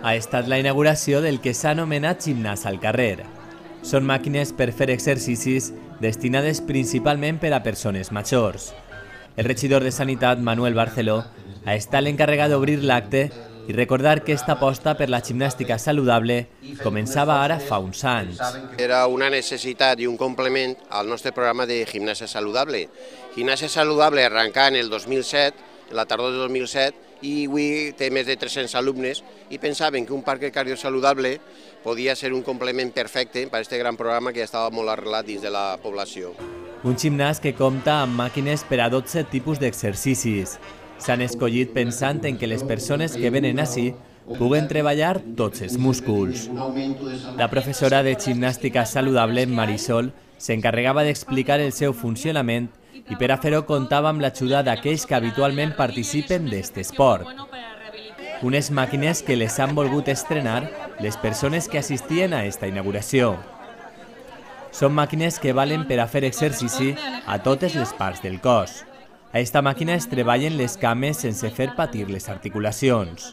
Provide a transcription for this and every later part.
ha estat la inauguració del que s'ha anomenat gimnàs al carrer. Són màquines per fer exercicis destinades principalment per a persones majors. El regidor de Sanitat, Manuel Barceló, ha estat l'encarregat d'obrir l'acte i recordar que aquesta aposta per la gimnàstica saludable començava ara fa uns anys. Era una necessitat i un complement al nostre programa de gimnàsia saludable. Gimnàsia saludable arrencà en el 2007, en la tardor del 2007, i avui té més de 300 alumnes i pensaven que un parc cardiosaludable podia ser un complement perfecte per a aquest gran programa que ja estava molt arrelat dins de la població. Un gimnàs que compta amb màquines per a 12 tipus d'exercicis. S'han escollit pensant en que les persones que venen ací puguen treballar tots els músculs. La professora de gimnàstica saludable, Marisol, s'encarregava d'explicar el seu funcionament i per a fer-ho comptava amb l'ajuda d'aquells que habitualment participen d'aquest esport. Unes màquines que les han volgut estrenar les persones que assistien a aquesta inauguració. Són màquines que valen per a fer exercici a totes les parts del cos. A aquesta màquina es treballen les cames sense fer patir les articulacions.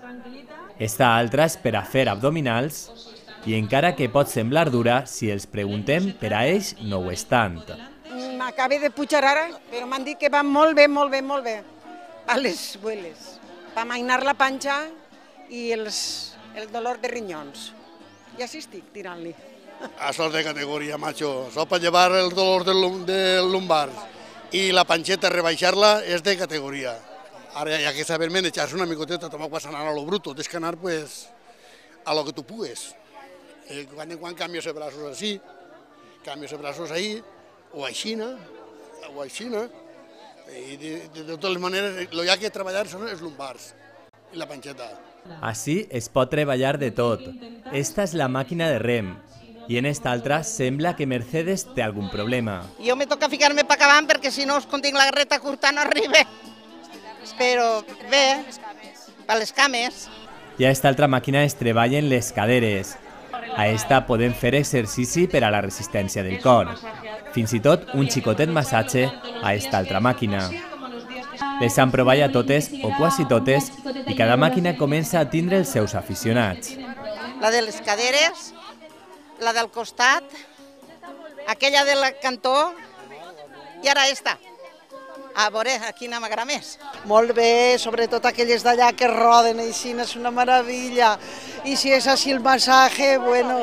Esta altra és per a fer abdominals i encara que pot semblar dura, si els preguntem, per a ells no ho és tant. M'acabé de pujar ara, però m'han dit que va molt bé, molt bé, molt bé. A les bueles, per amainar la panxa i el dolor de rinyons. I així estic tirant-li. Això és de categoria, macho. Això per llevar el dolor del lumbar i la panxeta, rebaixar-la, és de categoria. Ara hi ha que saber manejar-se una micoteta, tampoc vas anar a lo bruto, tens que anar a lo que tu pugues. Quan en quan canvies els braços així, canvies els braços ahí, o aixina, i de totes maneres el que ha de treballar són els lumbars i la panxeta. Així es pot treballar de tot. Esta és la màquina de rem i en esta altra sembla que Mercedes té algun problema. Jo me toca ficar-me per acabant perquè si no quan tinc la garreta curta no arriba. Però bé, per les cames. I a esta altra màquina es treballen les caderes. A esta podem fer exercici per a la resistència del cor. Fins i tot un xicotet massatge a esta altra màquina. Les han provat a totes o quasi totes i cada màquina comença a tindre els seus aficionats. La de les caderes, la del costat, aquella del cantó i ara esta. A veure, quina m'agrada més. Molt bé, sobretot aquelles d'allà que roden així, és una meravella. I si és així el massatge, bueno,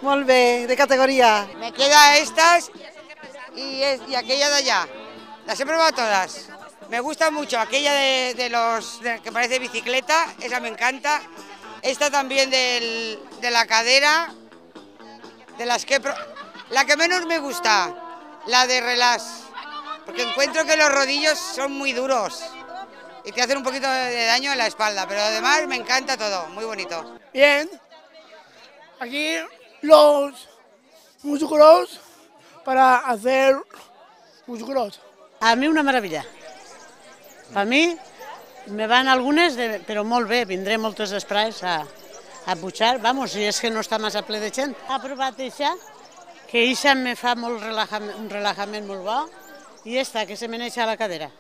molt bé, de categoría. Me queda estas y aquella de allá. Las he probado todas. Me gusta mucho aquella que parece bicicleta, esa me encanta. Esta también de la cadera, de las que la que menos me gusta, la de relax, porque encuentro que los rodillos son muy duros y te hacen un poquito de daño en la espalda, pero además me encanta todo, muy bonito. Bien, aquí los músculos para hacer músculos. A mí una maravilla. A mi me van algunes, però molt bé, vindré moltes després a pujar. Vamos, si és que no està massa ple de gent. Ha provat això, que això me fa un relajament molt bo, i esta, que se m'aneja a la cadera.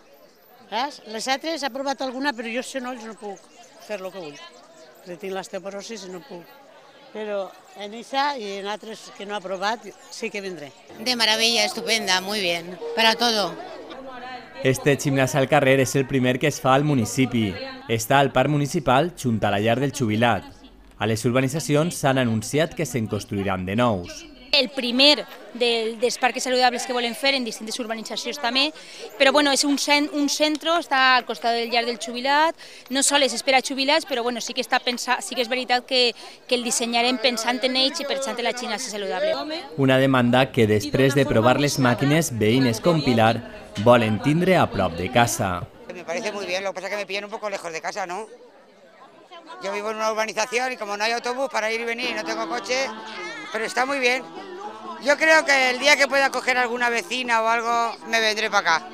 Saps? Les altres ha provat alguna, però jo si no no puc fer el que vull. Perquè tinc l'osteoporosi i no puc. Però en esa y en altres que no ha provat sí que vendré. De maravilla, estupenda, muy bien, para todo. Este gimnàs al carrer és el primer que es fa al municipi. Està al parc municipal junt a la llar del jubilat. A les urbanitzacions s'han anunciat que se'n construiran de nous. El primer dels parcs saludables que volem fer en distintes urbanitzacions també, però bueno, és un centre, està al costat del llar del jubilat, no sols és per a jubilats, però bueno, sí que és veritat que el dissenyarem pensant en ells i pensant en la gimnàsia saludable. Una demanda que després de provar les màquines, veïnes com Pilar volen tindre a prop de casa. Me parece muy bien, lo que pasa es que me pillan un poco lejos de casa, ¿no? Yo vivo en una urbanización y como no hay autobús para ir y venir, no tengo coche, pero está muy bien. Yo creo que el día que pueda coger alguna vecina o algo, me vendré para acá.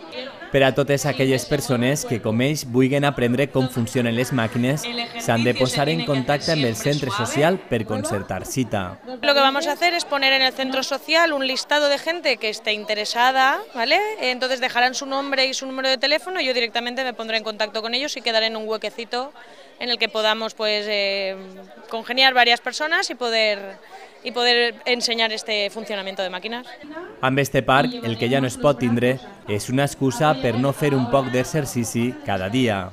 Per a totes aquelles persones que, com ells, vulguin aprendre com funcionen les màquines, s'han de posar en contacte amb el centre social per concertar cita. Lo que vamos a hacer es poner en el centro social un listado de gente que esté interesada, ¿vale? Entonces dejarán su nombre y su número de teléfono y yo directamente me pondré en contacto con ellos y quedaré en un huequecito en el que podamos pues, congeniar varias personas y poder ensenyar este funcionament de màquines. Amb este parc, el que ja no es pot tindre és una excusa per no fer un poc d'exercici cada dia.